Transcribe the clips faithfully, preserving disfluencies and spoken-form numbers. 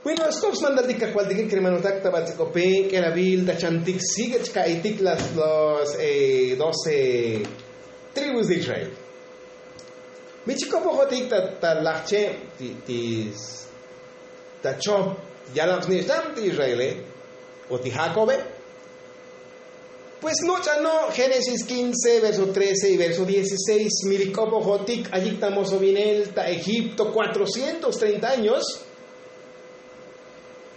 Bueno, stop smantal tik kajvaltik kermanotak ta batz'ikope k'elavil ta chantik sigue chka'itik las los doce tribus de Israel. Mi chikopojotik ta lajche' ti ta chop yalam snich'nam ti Israele o ti Jakobe. Pues noch'ano' Génesis quince verso trece y verso dieciséis mi li k'opojotik ayik ta mosovinel ta Egipto cuatrocientos treinta años.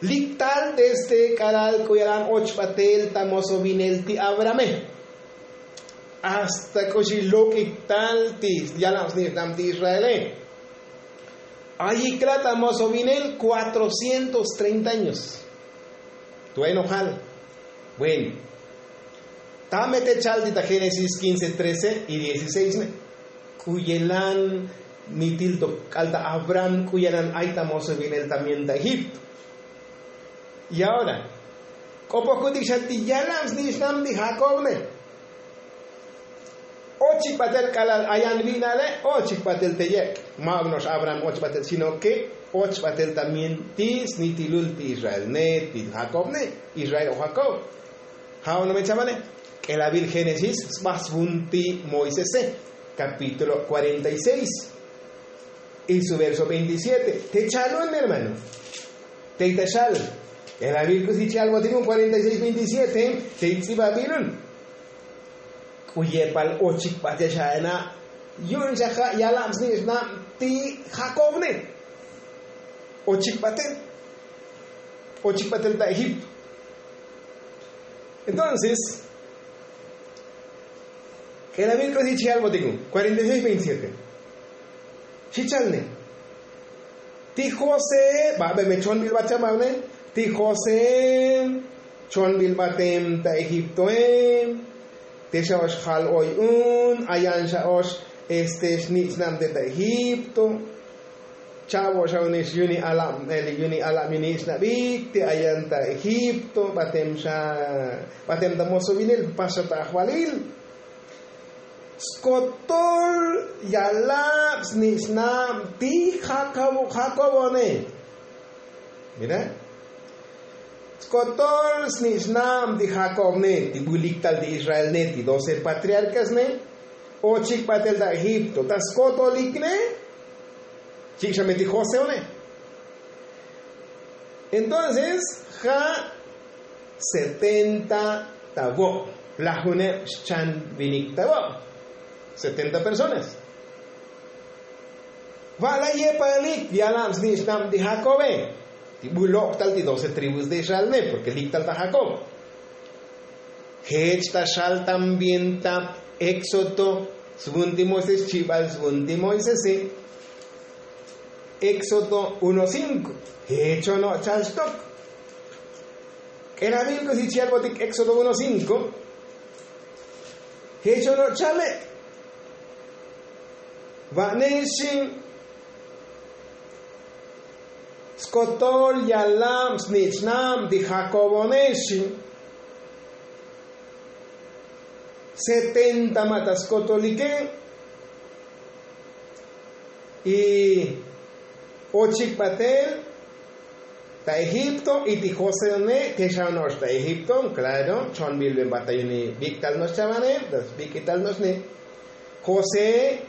Lik tal desde k'alal k'u yalan och batel ta mosovinel ti Abrahame hasta k'uxi lok'ik tal ti yalam snich'nam ti Israele. Ayik la ta mosovinel cuatrocientos treinta años. Tuenojal. Bueno, tame te chal ti ta Génesis quince trece y dieciséis ne k'u yelan nitil to k'al ta Abraham k'u yelan ay ta mosovinel también ta Egipto. Y ahora k'opokutik xa ti yalam snich'nam ti Jakob ne. Ochik batel k'alal ayan vi'nale ochik batel te yek' ma' no'ox Abraham och batel sino ke och batel también ti snitilul ti Israel ne ti Jakob ne. Israel o Jakob. Ja' ono me chavale k'elavil Génesis sba svun ti Moisese, capítulo cuarenta y seis y su verso veintisiete. Te chalun mi hermano. Tey ta xal k'elavil k'usi chi albotik un cuarenta y seis veintisiete. Tey tz'ibabilun k'u yepal ochik batel xa ena' yu'un xa ja' yalam snich'nam ti Jakob ne. Ochik batel ochik batel ta Egipto. Entonces k'elavil k'usi chi albotik un cuarenta y seis veintisiete. Xi chalne ti José ba be me chonbil ba chababne. Ti José chonbil batem ta Egiptoe. Te xa ox jal oy un ayan xa ox este xnich'nam te ta Egipto. Chavo xa unix yuni alab yuni alab yuni ich'nabik ti ayan ta Egipto batem xa batem ta mosovinel paxa ta ajvalil. Skotol yalab snich'nab ti Jakobo Jakobone. Mira, skotol snich'nab ti Jakob ne ti bulik tal ti Israel ne ti doce patriarkas ne. Ochik batel ta Egipto ta skotolik ne. Chik' xa me ti José one. Entonces ja' setenta ta vo' lajuneb xchan vinik ta vo'. Setenta personas. Va' la yepalik yalam snich'nab ti Jakobe ti bu lok' tal ti doce tribus de Israel ne porke lik tal ta Jakob. Jech ta xal también ta Éxodo svun ti Moisés chibal svun ti Moisese. Éxodo uno cinco. Jech ono' chal xtok. K'elavil k'usi chi albotik Éxodo uno cinco. Jech ono' chale. Va'nexi skotol yalab snich'nab ti Jakobonexi. Setenta ma' ta skotolike. Y ochik batel ta Egipto y ti José ne te xa no'ox ta Egipto. Klaro chonbil ben ba ta yuni bik'tal no'ox chavane. Bik'ital no'ox ne José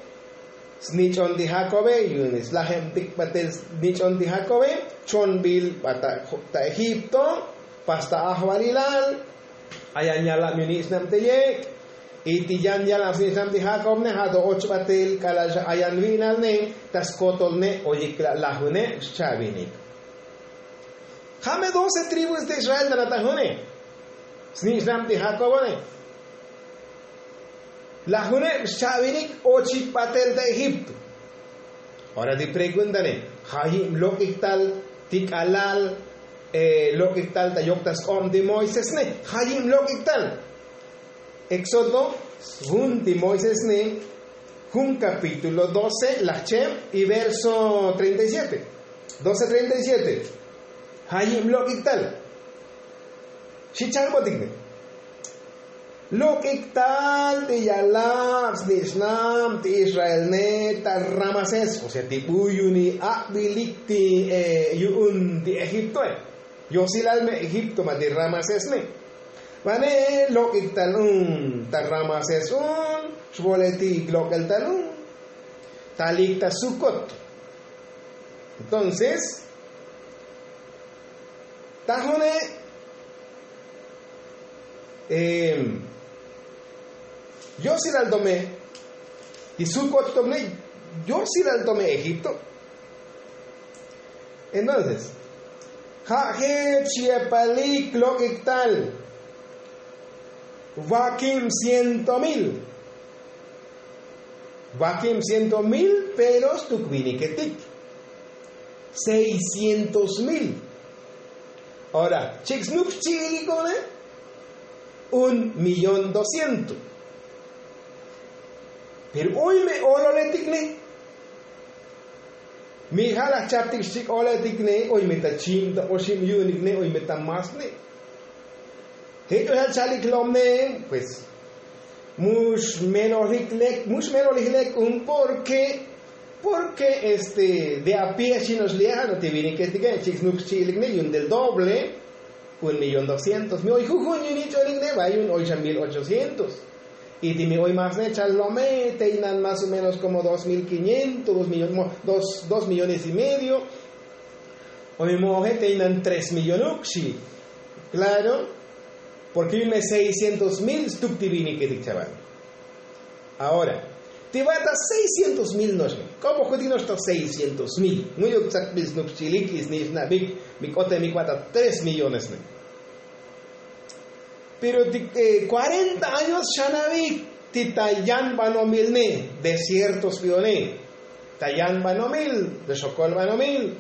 snich'on ti Jakobe yu'un slajem tik batel snich'on ti Jakobe. Chonbil ba ta Egipto pas ta ajvalilal. Ayan yalab yuni ich'nab te yek' y ti yan yalab snich'nab ti Jakob ne ja' to och batel k'alal xa ayan vi'nal ne ta skotol ne. Oyik la' lajuneb xchavinik. Ja' me doce tribus de Israel ta natajune snich'nab ti Jakobone. Lajuneb xchavinik ochik batel ta Egipto. Ora ti preguntane, jayib lok'ik tal ti k'alal lok'ik tal ta yok ta sk'ob ti Moisés ne? Jayib lok'ik tal? Éxodo svun ti Moisés ne jun capítulo doce lajcheb y verso treinta y siete. Doce treinta y siete. Jayib lok'ik tal? Xi chalbotik ne. Lok'ik tal ti yalab snich'nab ti israelne ta ramasés, o sea ti bu yuni aq'bilik ti yu'un ti egiptoe. Yosilal me egipto ma ti ramasésne. Vane lok'ik tal un ta ramasés un, xvoletik lok'el tal un talik ta sukot. Entonces tajone yosilal tome ti sukot tome yosilal tome egipto. Entonces ja' jech yepalik lok'ik tal vakim ciento mil. Vakim ciento mil pero stuk viniketik seiscientos mil. Ahora chik' snuk xchi'ilik one un millón doscientos. Pero oy me ololetik ne. Mi ja' laj chaptik xchik' oletik ne oy me ta chim ta oxib yu'unik ne oy me ta mas ne. Jech oy ja' chalik lom ne pues mux melolik lek mux melolik lek un porke porke este de a pie xino'ox li' ja' no ti viniketike chik' snuk xchi'ilik ne yu'un del doble. Un millón doscientos mi oy jujun yu'un ich'onik ne va yu'un oy xa mil ochocientos. Y ti mi oy mas ne chal lome tey nan mas o menos komo dos mil quinientos dos millones y medio. O mi mo'oje tey nan tres millón ukxi. Klaro. Porke yu'un me seiscientos mil stuk ti viniketik chaval. Ahora ti va'ta seiscientos mil no'ox ne k'opo jutik no'ox ta seiscientos mil mu'yuk tsakbil snuk xchilik y snich'nabik. Mi k'otemik va'ta tres millones ne. Pero ti kuarenta años xanavik ti ta yan banomil ne desierto sbione. Ta yan banomil ta xokol banomil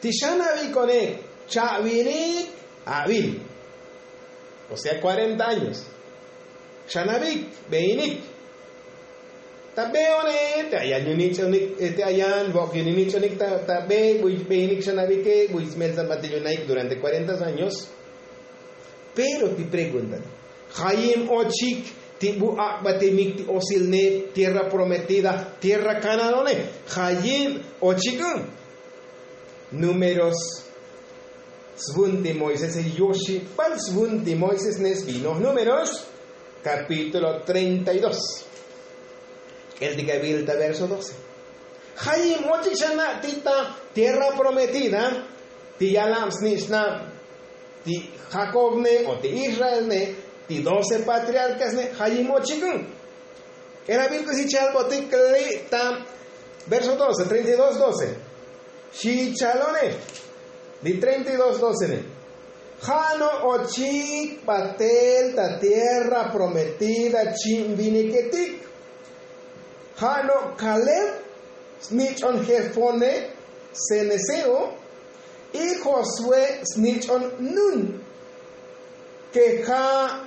ti xanavik one cha'vinik avil. O sea kuarenta años xanavik beinik. Ta beone te ayan yunich'onik te ayan vok yuninich'onik ta be buy beinik xanavike buy smeltzan batil yunaik durante kuarenta años. Pero ti pregunta jayim ochik ti bu ak'batimik ti osilne tierra prometida tierra kananone? Jayim ochik un números. Svun ti moisés yoxibal svun ti moisés ne svinoj números kapítulo treinta y dos. K'el ti kavil ta verso doce. Jayim ochik xana' ti ta tierra prometida ti yalab snich'nab ti jakob ne o ti israel ne ti doce patriarkas ne jayim ochik un. K'erabil k'usi chalbotik li' ta verso doce treinta y dos doce. Xi chalone li treinta y dos doce ne ja' no' ochik batel ta tierra prometida chi'in viniketik. Ja' no' kaleb snich'on jefone ceneseo y josué snich'on nun ke ja'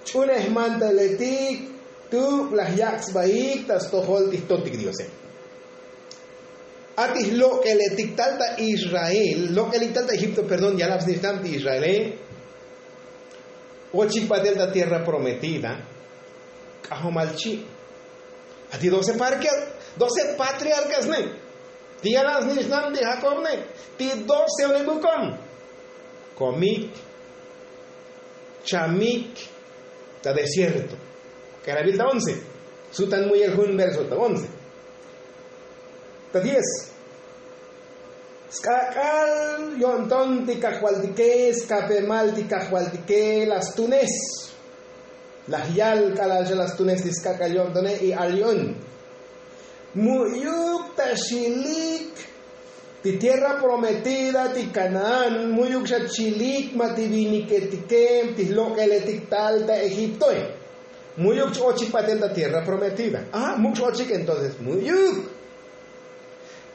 ch'unej mantaletik tuk' laj yak' sbaik ta stojol ti jtotik diose. A ti jlok'eletik tal ta israel lok'elik tal ta egipto perdón yalab snich'nab ti israele. Ochik batel ta tierra prometida k'ajomal chi' a ti doce parkial doce patriarkas ne ti yalab snich'nab ti jakob ne ti doce one bukom komik chamik ta desierto. K'erabil ta once sutan muyel jun verso ta once ta diez. Sk'ak'al yo'nton ti kajvaltike skapemal ti kajvaltike la stunes. Laj yal k'alal xa la stunes ti sk'ak'al yo'ntone y al yu'un mu'yuk ta xilik ti tierra prometida ti kanaán mu'yuk xa chilik ma ti viniketike ti jlok'eletik tal ta egiptoe. Mu'yuk ch-ochik batel ta tierra prometida a muk' ch-ochik entonces mu'yuk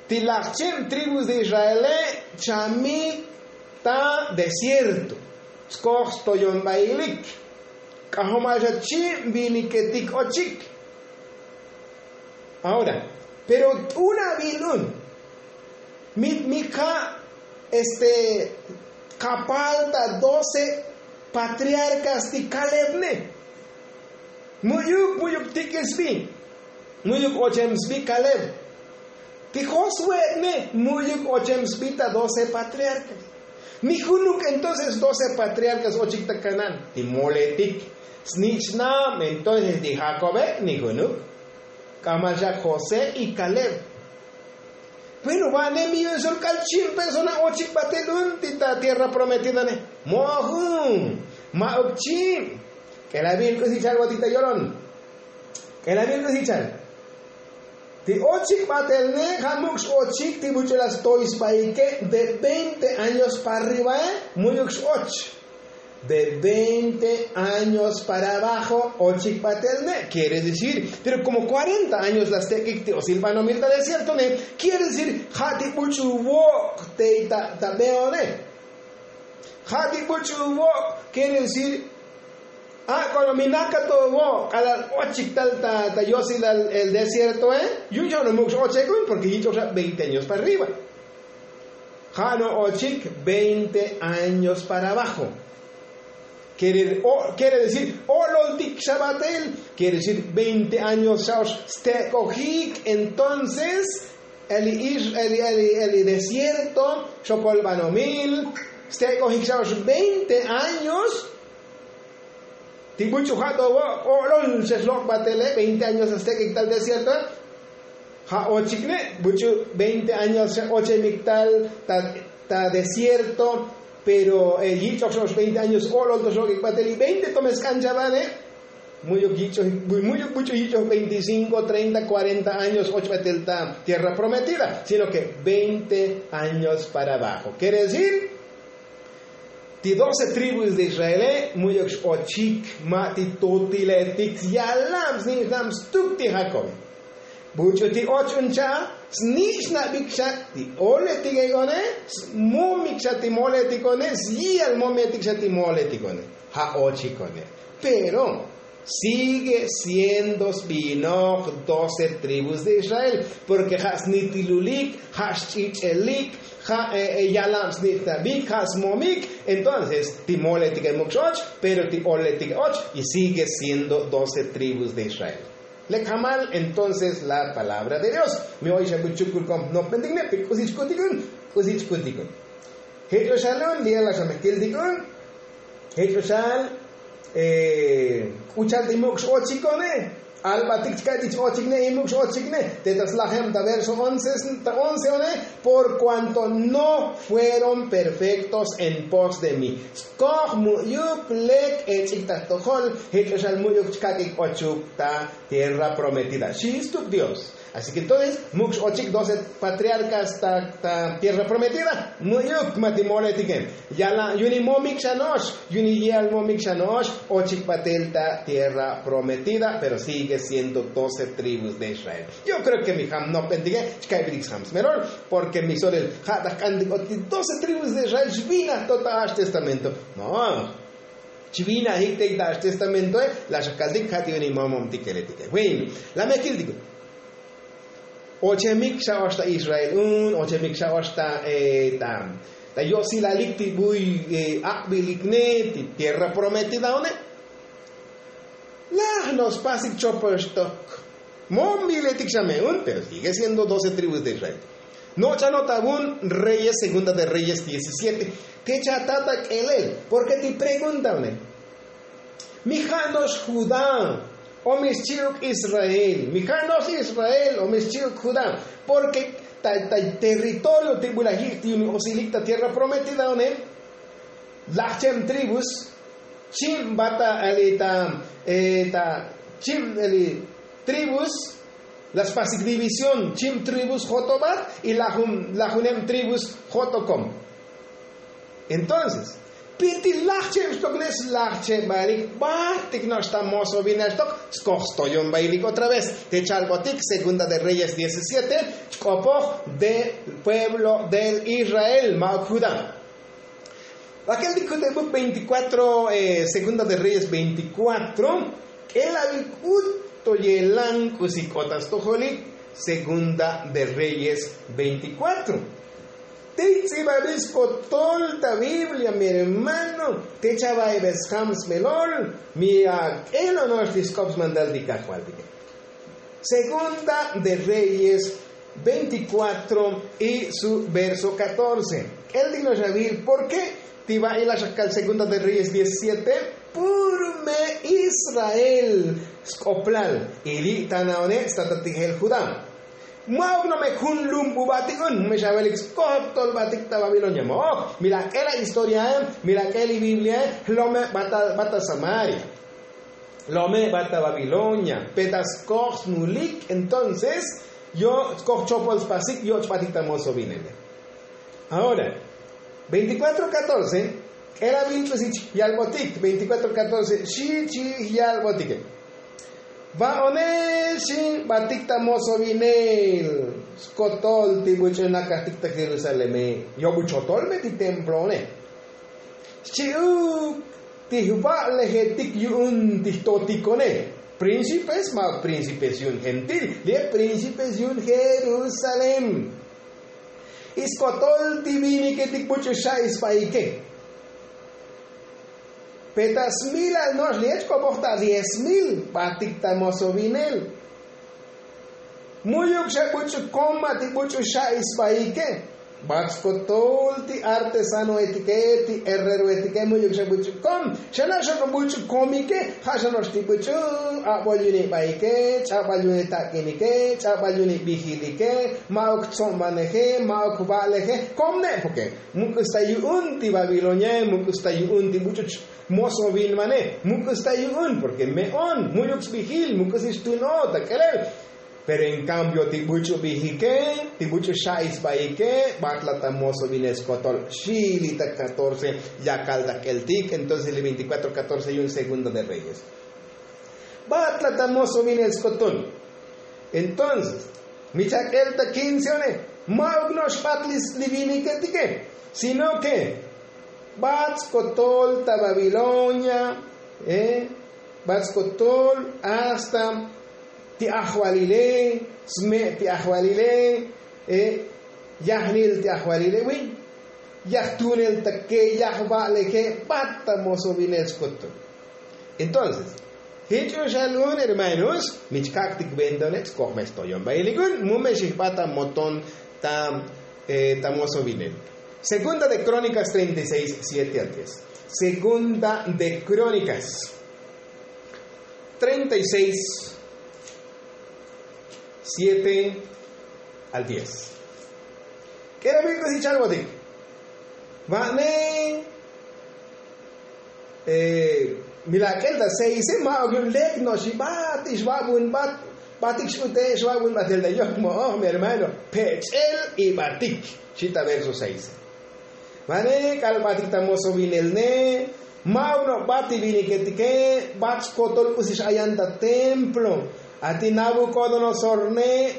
ti laj cheb tribus de israele chamik ta desierto skoj stoyonbailik k'ajomal xa chib viniketik ochik. Ahora pero t'unabil un mi mi ka' este kapal ta doce Patriarkas ti kaleb ne. Mu'yuk mu'yuk tik'il sbi. Mu'yuk ochem sbi kaleb. Ti josue ne mu'yuk ochem sbi ta doce patriarkas. Ni junuk entonces doce patriarkas ochik ta kanan ti moletik. Snich'nab entonces ti jakobe ni junuk. K'amal xa josé y kaleb. Bueno va'ne mi yu'un sol k'al chim persona ochik batel un ti ta tierra prometida ne. Mo'ojun. Ma'uk chim. K'elabil k'usi chal batik ta yolon. K'elabil k'usi chal. Ti ochik batel ne ja' muk' x'ochik ti buch'u la stoy sbaike de veinte años para arriba. Mu'yuk x'och de veinte años para abajo. Ochik batel ne quiere decir pero como cuarenta años la stek'ik ti osil banomil ta desierto ne. Quiere decir ja' ti buch'u vok' te ta beone. Ja' ti buch'u vok' quiere decir a' k'o lo mi nakato vok' k'alal ochik tal ta yosilal el desiertoe. Yu'un xa' no muk' x'ochek un porque yich'oj xa' veinte años para arriba. Ja' no ochik veinte años para abajo. Quiere decir o'loltik xa batel. Quiere decir veinte años xa ox stek'ojik entonces eli desierto xokol banomil. Stek'ojik xa ox veinte años. Ti buch'u ja' to vo' o'lol xa xlok' batele veinte años astek'ik tal desierto. Ja' ochik ne buch'u veinte años xa ochemik tal ta desierto. Pero yich'oj xa ox veinte años o'lol to xlok'ik batel y veinte to me sk'an chavane. Mu'yuk yich'oj mu'yuk buch'u yich'oj veinticinko treinta cuarenta años och batel ta tierra prometida sino ke veinte años para abajo quiere decir ti doce tribus de israele mu'yuk x'ochik ma' ti tutiletik syalab snich'nab stuk ti jakobe. Buch'u ti och un cha' snich'nabik xa ti oletik ek'one. Smomik xa ti moletik one syi'al mometik xa ti moletik one. Ja' ochik one pero sigue siendo sbinoj doce tribus de israel. Porke ja' snitilulik ja' xch'ich'elik ja' yalab snich'nabik ja' smomik. Entonces ti moletik emuk x'och pero ti oletik och y sigue siendo doce tribus de israel. Lek jamal entonces la palabra de dios. Mi oy xa buchukul kom nopbentik ne pe k'usi chkutik un. K'usi chkutik un. Jech'o xal un li'el la xa me kiltik un. Jech'o xal k'u chal ti muk' x'ochikone. Albatik chka'tik x'ochikne y muk' x'ochikne te ta slajem ta verso once one. Por kuanto no fueron perfektos en pos de mí. Skoj mu'yuk lek ech'ik ta stojol. Jech'o xal mu'yuk chka'tik ochuk ta tierra prometida xi stuk dios. Así ke entonces muk' x'ochik doce patriarkas ta tierra prometida. Mu'yuk ma' ti moletike. Yala' yu'un imomik xa no'ox yu'un iyi'al momik xa no'ox. Ochik batel ta tierra prometida pero sigue siendo doce tribus de israel. Yo kreo ke mi jam nopbentike chka'iblik sjam smelol. Porke mi solel ja' ta jk'antik ot ti doce tribus de israel xbinaj to ta a'ax testamento. No. Chbinajik te ta a'ax testamentoe. La xa kaltik ja' ti yu'un imomomtikeletike bueno. La me kiltik un ochemik xa ox ta israel un ochemik xa ox ta ta yosilalik ti buy ak'bilik ne ti tierra prometida one. Laj no spasik chopol xtok. Momiletik xa me un pero sigue siendo doce tribus de israel. Noch'anot avun reyes segunda de reyes diecisiete. Te chatata k'elel porke ti pregunta une. Mi ja' no'ox judá o mi xchi'uk israel mi ja' no'ox israel o mi xchi'uk judá. Porke ta territorio ti bulajik ti yumi osilik ta tierra prometida one. Lajchem tribus chim bata ali ta chim ali tribus. La spasik división chim tribus jotobat y lajuneb tribus jotokom. Entonces piti lajcheb xtok ne slajchebalik batik no'ox ta mozo vinaxtok. Skoj stoyon bayilik otra vez te chalbotik segunda de reyes diecisiete. Chk'opoj de pueblo del israel ma'uk judá. Bakel ti kutebuk veinticuatro segunda de reyes veinticuatro. K'elavil k'ut to yelan k'usi k'ot ta stojolik segunda de reyes veinticuatro. Ti ts'ibabil skotol ta biblia mi hermano, te chava'ibel sjam smelol. Mi ak'el ono'ox ti sk'op smantal ti kajvaltike. Segunda de reyes veinticuatro y su verso catorce. K'el ti no'ox avil porke ti va'i laxakal segunda de reyes diecisiete. Pur me israel sk'oplal y li' ta na'one' sta ta tijel judá. Ma'uk no' me jun lum bubatik un me xavelik skotol batik ta babilonia mo'oj. Mi la k'el a historiae, mi la k'el i bibliae. Lome' bata samaria, lome' bata babilonia. Peta skoj smulik entonces yo' skoj chopol spasik yoch' batik ta mozo vinele. Ahora veinticuatro catorce. K'el a bin ch'usich yalbotik veinticuatro catorce xi chi yalbotike. Va'one xi batik ta mozo vinel skotol ti buch'u nakajtik ta jerusaleme. Yo'bu chotol me ti templo'one xchi'uk ti jva'lejetik yu'un ti jtotikone. Príncipes ma' príncipes yu'un gentil li' príncipes yu'un jerusalem. Iskotol ti viniketik buch'u xa'i sbaike. Peta smilal no'ox li' ech k'opoj ta diez mil batik ta mozo vinel. Mu'yuk xa buch'u koma ti buch'u xa'i sbaike. Bat skotol ti artesanoetike ti herreroetike mu'yuk xa buch'u kom. Xa no'ox xa buch'u komike ja' xa no'ox ti buch'u abol yu'un ibaike, ch'abal yu'un itak'inike, ch'abal yu'un ibijilike. Ma'uk tsobaneje, ma'uk va'leje. Kom ne' porke muk'us ta yu'un ti babiloniae muk'us ta yu'un ti buch'u mozo vinmane. Muk'us ta yu'un porke me'on mu'yuk sbijil muk'us ix tun o ta k'elel. Pero en kambio ti buch'u bijike, ti buch'u xa'i sbaike batla ta mozo vinel skotol. Xi li' ta catorce yakal ta k'eltik entonces li' veinticuatro catorce yu'un segunda de reyes. Batla ta mozo vinel skotol. Entonces mi chak'el ta quince one. Ma'uk no'ox bat li viniketike sino ke bat skotol ta babilonia. Bat skotol hasta ti ajvalile, sme' ti ajvalile, yajnil ti ajvalile wi, yajtunel ta ke yajva'leje. Bat ta mozo vinel skotol. Entonces jich un xa lu'un hermanos mi chkak'tik ventone' skoj me stoyon ba'ilik un mu me xijbat ta moton ta mozo vinel. Segunda de krónikas treinta y seis siete al diez. Segunda de krónikas treinta y seis siete al diez. K'era bik'us ich'albotik va'ne. Mi lak'el ta seise ma'uk yu'un lek no'ox ibat ixva'bunbat batik x'ute' xva'bunbatel ta yok mo'oj mi hermano. Pech'el ibatik xi ta verso seise. Vane k'al batik ta mozo vinel ne. Ma'uk no' bat ti viniketike bat skotol k'usi x'ayan ta templo. A ti nabukodonosor ne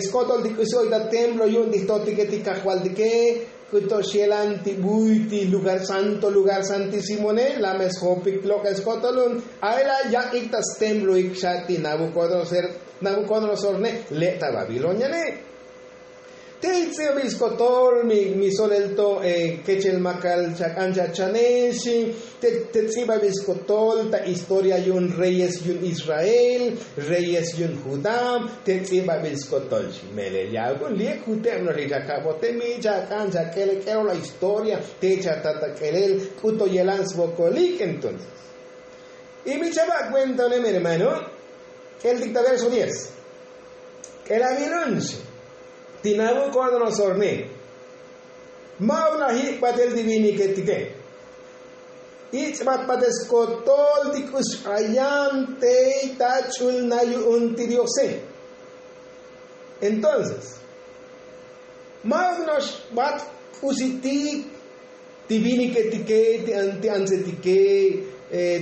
skotol ti k'usi oy ta templo yu'un ti jtotike ti kajvaltike. K'uto xyelan ti buy ti lugar santo lugar santísimone la' me sjopik lok'el skotol un. A'ela' yak'ik ta stemploik xa ti nabukodonosor ne le' ta babilonia ne. Te its'ibabil skotol mi solel to kechel makal chak'an chachanexi. Te ts'ibabil skotol ta historia yu'un reyes yu'un israel, reyes yu'un judá. Te ts'ibabil skotol xi melel ya'uk un li'ek juteb no'ox li chakabote mi chak'an chak'ele k'elola historia te chatat ta k'elel. K'uto yelan svokolik entonces. Y mi chava' kuenta unem hermano. K'eltik ta verso diez. K'elabil un xi ti nabukodonosorne. Ma'uk na jik'batel ti viniketike. Ich'bat batel skotol ti k'us x'ayan tey tach'ul na yu'un ti diose. Entonces ma'uk no'ox bat k'usitik ti viniketike ti antsetike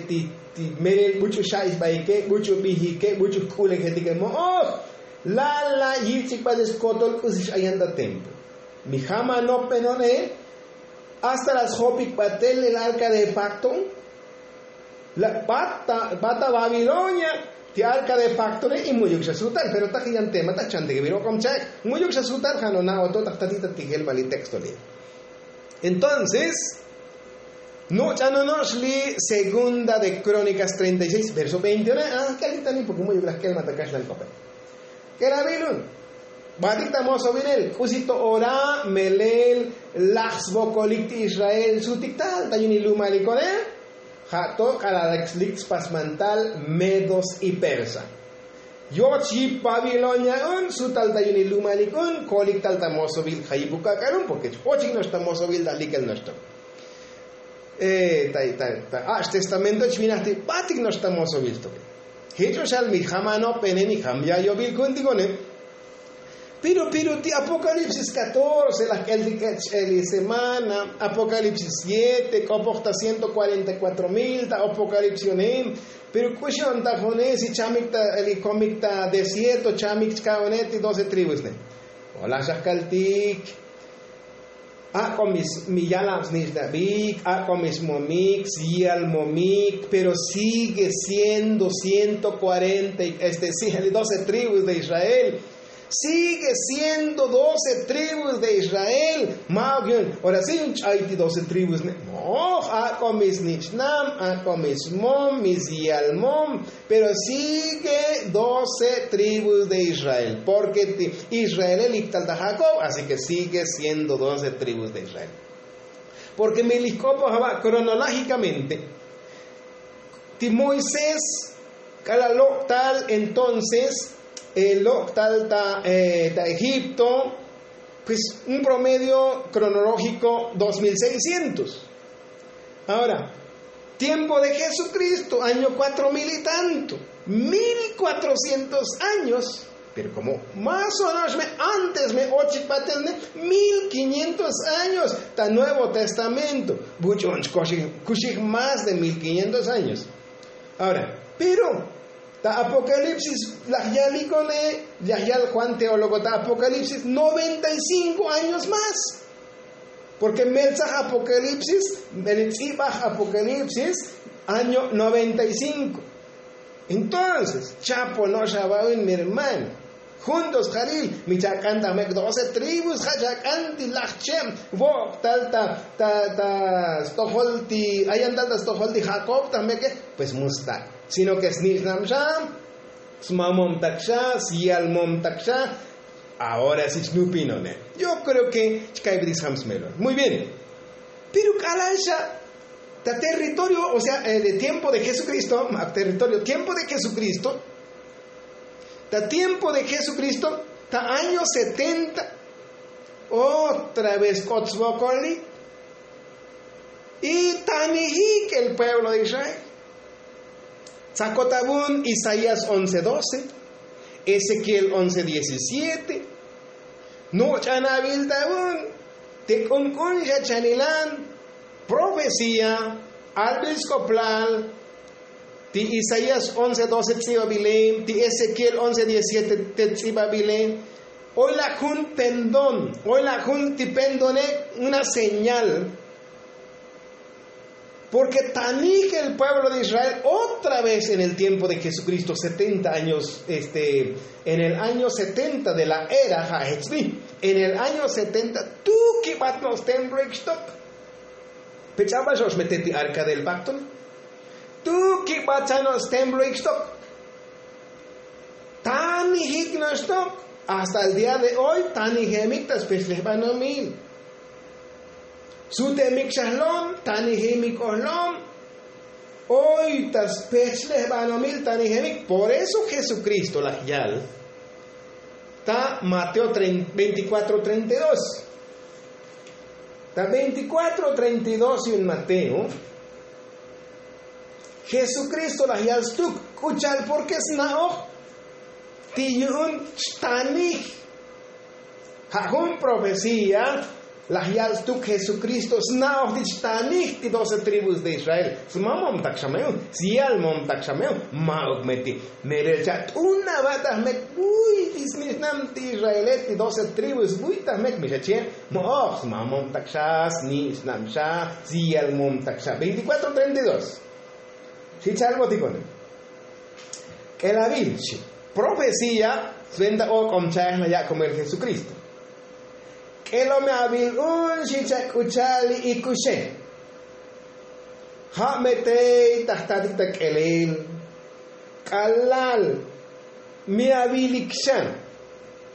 ti melel buch'u xa'isbaike buch'u bijike buch'u jk'ulejetike mo'oj. Lala' yich'ik batel skotol k'usi x'ayan ta templo. Mi jam anop me no'one. Hasta la sjopik batel el arka de pakto. La' bat ta babilonia. Ti arka de paktone y muyuk xa sutal pero ta jiyan tema ta chantik viro kom chak muyuk xa sutal jano na oto ta jtatik ta tijel vali texto li. Entonces nuch'anonox li segunda de krónikas treinta y seis verso veintiuno. K'el ti tanik porke muyuk laj k'el ma ta kaxlan kope. K'el avilun. Batik ta mosovinel k'usi to ora melel laj svokolik ti israel sutik tal ta yuni lumalikone. Ja' to k'alal lik spasmantal medos y persa. Yoch yip babilonia un sutal ta yuni lumalik un kolik tal ta mosovil ja' yip ukak'al un porke ochik no'ox ta mosovil ta likel no'ox to. Ta ach' testamento chvinaj ti batik no'ox ta mosovil to. Jech oxal mi jamanopene mi jam ya yobil ku'untikone. Piru piru ti apokalipsis katorce laj k'el ti k'ech ch'eli semana apokalipsis siete k'opoj ta ciento kuarenta y kuatro mil ta apokalipsis yonem. Piru k'uxi on ta jone si chamik ta eli komik ta desierto chamik chka one ti doce tribus ne. Olaj xajkaltik. Ak'o mi yalab snich'nabik ak'o mi smomik syalmomik pero sigue siendo ciento kuarenta y este si doce tribus de israel. Sigue siendo doce tribus de israel. Ma'ok yun ora si yun ch'ay ti doce tribus ne. Moj ak'o mi snich'nab ak'o mi smom mi syalmom. Pero sigue doce tribus de israel porke ti israele lik tal ta jakob así ke sigue siendo doce tribus de israel. Porke mi lik k'opoj aba kronológikamente ti moisés k'alal lok' tal entonces lok' tal ta egipto. Pues un promedio kronológiko dos mil seiscientos. Ahora tiempo de jesukristo año kuatro mil y tanto mil kuatrocientos años. Pero komo más o no'ox me antes me ochik batel ne mil kiñientos años ta nuevo testamento. Buch'un chkoxik kuxik más de mil kiñientos años. Ahora pero ta apokalipsis laj yalikone laj yal juan teólogo ta apokalipsis noventa y cinko años más. Porke meltzaj apokalipsis meltzibaj apokalipsis año noventa y cinko. Entonces chapo no'ox aba'un mi hermano juntos jalil mi chak'an ta mek'doce tribus ja' chak'an ti laj cheb vo'ok tal ta ta ta stojol ti ayan tal ta stojol ti jakob ta mek'e. Pues musta sino ke snich'nab xa smamom tak xa syalmom tak xa. Ahora si chnupinone yo kreo ke chkaybetik sjam smelon muy bien. Pero k'alal xa ta territorio o sea de tiempo de jesukristo ma' territorio tiempo de jesukristo ta tiempo de jesukristo ta año setenta otra vez k'ot svokoli. Y tanijik el pueblo de israel. Tzakot avun isaías once doce, ezequiel once diecisiete. Nuch'an avil ta avun te k'unk'un xa chanilan profecía albil sk'oplal ti isaías once doce tz'ibabile ti ezequiel once diecisiete te tz'ibabile. Oy laj jun pendón oy laj jun ti pendone una señal. Porke tanij el pueblo de israel otra vez en el tiempo de jesukristo setenta años este en el año setenta de la era ja' jechbi en el año setenta. Tu kibat no'ox templo ikxtok. Pe ch'abal xo'ox mete ti arka del pakto. Tu kibat xa no'ox templo ikxtok. Tanijik no'oxtok hasta el día de hoy tanijemik ta spechlejbanomil. Sutemik xa jlom tanijemik o jlom. Oy ta spechlejbanomil tanijemik por eso jesukristo laj yal ta mateo veinticuatro treinta y dos. Ta veinticuatro treinta y dos yu'un mateo jesukristo laj yal stuk k'u cha'al porke sna'oj ti yu'un chtanij. Ja' jun profecía laj yal stuk jesukristo sna'oj ti chtanij ti doce tribus de israel. Smamom tak xa me un syalmom tak xa me un ma'uk me ti. Melel cha't'un aba ta jmek buy ti snich'nam ti israele ti doce tribus buy ta jmek mi xa chie. Mo'oj smamom tak xa snich'nam xa syalmom tak xa veinticuatro treinta y dos. Xi chalbotikone. K'elavil xi profecía sventa ok'om cha'ej na yakomel jesukristo. K'elo me avil un xi chak k'ucha'al li ikuxe. Ja' me tey ta jtatik ta k'elel k'alal mi avilik xa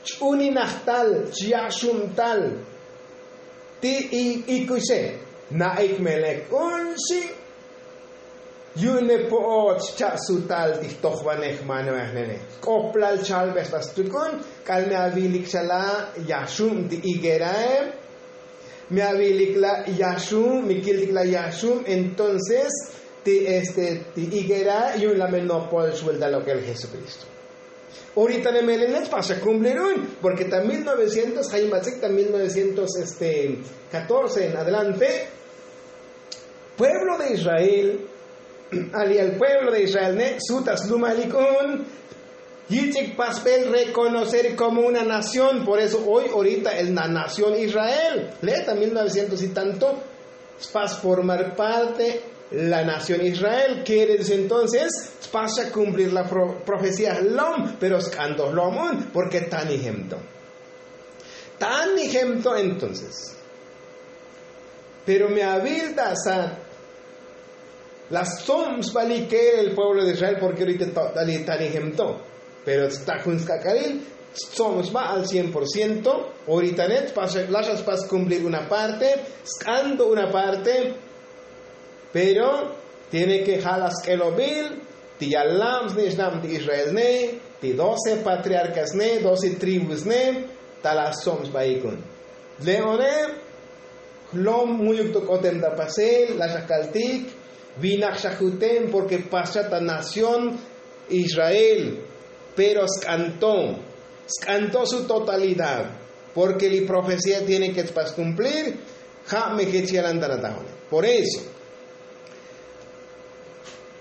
ch'uninajtal chyaxubtal ti ikuxe. Na'ik melek un xi yu'un me po'ot xcha' sutal ti jtojvanej manvanej nene jk'oplal chalbej ta stukun. K'al me avilik xa la' yaxub ti higuerae. Me avilik la' yaxub mi kiltik la' yaxub entonces ti este ti higuerae yu'un la' me nopol xvuelta lok'el jesukristo. Orita ne melenech paxa kumplir un porke ta mil novecientos jaybats'ik ta mil novecientos este katorce en adelante pueblo de israel ali al pueblo de israel ne' su ta slumalik un yich'ik pasbel rekonocer komo una nación. Por eso hoy orita el na nación israel le' ta mil novecientos y tanto spas formar parte la nación israel kere dice entonces spas xa kumplir la profecía jlom pero sk'anto jlom un porke tani jemto. Tani jemto entonces pero me avil ta sa la stsob sbalik el pueblo de israel porke orita totali tani jemto. Pero sta jun sk'ak'alil stsob sba al cien por ciento. Orita net laxa spas kumplir una parte sk'anto una parte. Pero tiene ke ja' la sk'elobil ti yalab snich'nab ti israel ne ti doce patriarkas ne doce tribus ne ta la stsob sbaik un. Le'one jlom mu'yuk to k'otem ta pasel lax akaltik vinak xa juten porke pascha ta nación israel. Pero sk'anto sk'anto su totalidad porke li profecía tiene ke tspas kumplir. Ja' me jech yalan ta natajone. Por eso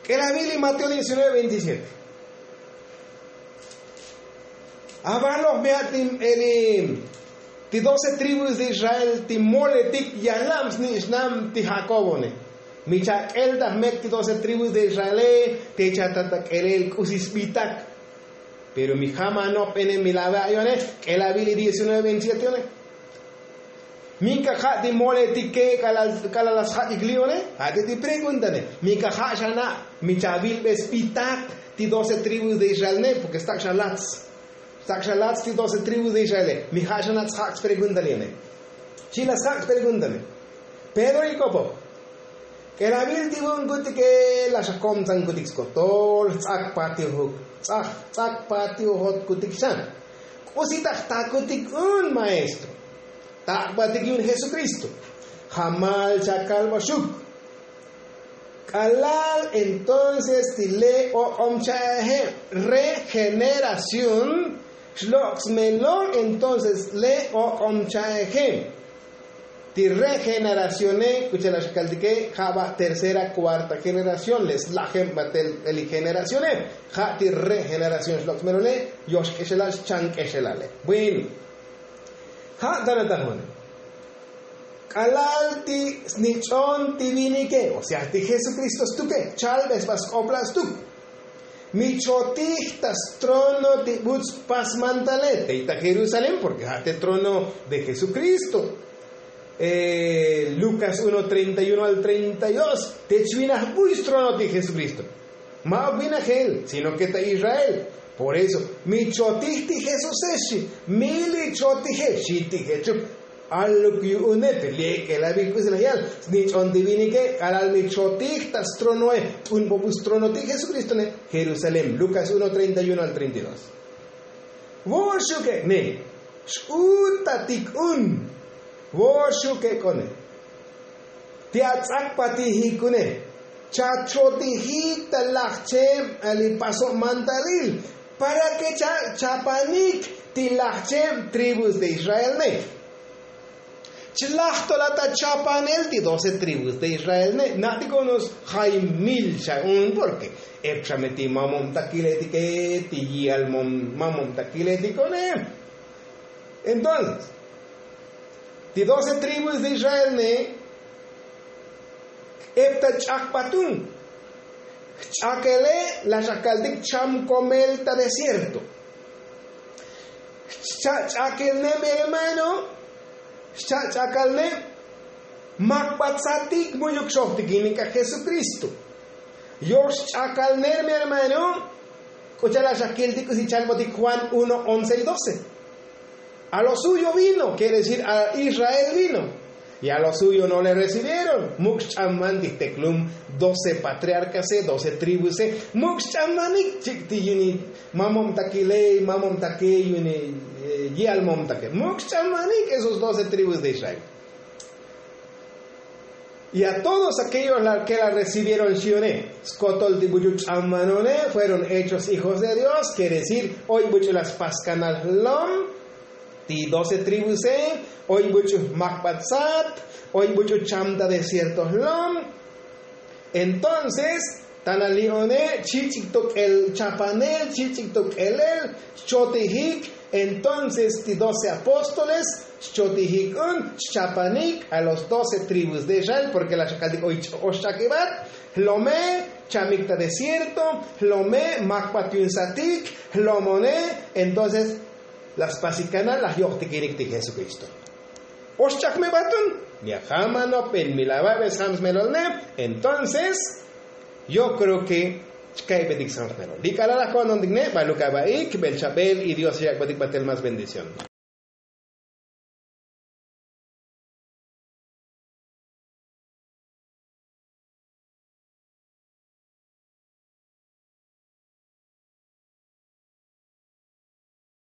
k'elavil li mateo diecinueve veintisiete. Avaloj me a'tim eli ti doce tribus de israel ti moletik yalab snich'nab ti jakobone. Mi chak'el ta jmek ti doce tribus de israele te chatat ta k'elel k'usi sbitak. Pero mi jam anop'ene mi lave ayo'one k'elavil li diecinueve veintisiete yo'one. Min ka ja' ti moletike k'alal la sjak'ik li'one. Ja' ti ti preguntane mi ka ja' xana' mi chavilbe sbitak ti doce tribus de israel ne porke stak' xa lats stak' xa lats ti doce tribus de israele mi ja' xana' tsjak' spregunta li'one. Xi la sjak' spreguntane pedro ik'opoj k'elavil ti vu'un kutike la xakomtsan kutik skotol jts'ak patiujuk ts'ak ts'ak patiujot kutik xan. K'usi ta jtakutik un maestro tak'batik yu'un jesukristo. Jamal chakalbaxuk k'alal entonces ti le' ok'om cha'ejeb regeneración xlok' smelon entonces le' ok'om cha'ejeb ti regeneracione k'u cha'al axkaltike ja' ba' tercera kuarta generación le' slajeb batel li generacione. Ja' ti regeneración xlok' smelone yox k'exelal xchan k'exelale. Bueno ja' ta natajone k'alal ti snich'on ti vinike o sea ti jesukristo stuke chalbe sba sk'oplal stuk. Mi chotij ta strono ti buts pasmantale tey ta jerusalén porke ja' te trono de jesukristo. Lukas uno treinta y uno al treinta y dos te chvinaj buy strono ti jesukristo. Ma'uk vinajel sino ke ta israel. Por eso mi chotij ti jesuse xi mi li chotije xi ti jechuk. Aluk yu'une te li ek'elabil k'usi laj yal snich'on ti vinike k'alal mi chotij ta stronoe t'un bobu strono ti jesukristo ne jerusalén lukas uno treinta y uno al treinta y dos. Vo'oxuk ek'ne x'utatik un vo'oxuk ek'one ti ats'akpatijikune chachotijik ta lajcheb li pasob mantalil para ke chapanik ti lajcheb tribus de israel ne. Chlaj to la ta chapanel ti doce tribus de israel ne na'tik unos jay mil xa un porke ep xa me ti mamom takiletike ti yi'al mamom takiletiko ne. Entonces ti doce tribus de israel ne ep ta ch'akpatun. Jch'akele la xajkaltik cham komel ta desierto. Xcha'ch'akel ne mi hermano. Xcha'ch'akalne makbatsatik mu'yuk xojtikinik a jesukristo. Yoxch'akalner mi hermano. K'ucha' la xajkiltik k'usi chalbotik juan uno once y doce. A lo suyo vino, quiere decir a israel vino. Y a lo suyo no le recibieron. Muk' xch'amban tijteklum doce patriarkase doce tribuse. Muk' xch'ambanik chik' ti yuni mamomtakiley mamomtakey yuni yi'al momtake muk' xch'ambanik esos doce tribus de israel. Y a todos aquellos ke la recibieron xione skotol ti buch'u ch'ambanone fueron hechos hijos de dios quiere decir oy buch'u la spaskanal lom. Ti doce tribuse oy buch'u makbatsat oy buch'u chamta de cierto lom. Entonces tana li'one chich'ik tok'el chapanel chich'ik tok'elel xchotijik. Entonces ti doce apóstoles xchotijik un xchapanik a los doce tribus de israel porke la xakaltik oy oxch'akibat. Jlome chamik ta desierto jlome makbat yu'un satik jlomone. Entonces la spasikanal la yo'jtikinik ti jesukristo. Oxch'akmebat un mi ajam anopen mi la ba'be sjam smelolne. Entonces yo kreo ke chka'ybetik sjam smelol li k'alal la ko'nontikne baluk aba'ik bel chabel y dios yak'botik batel más bendición.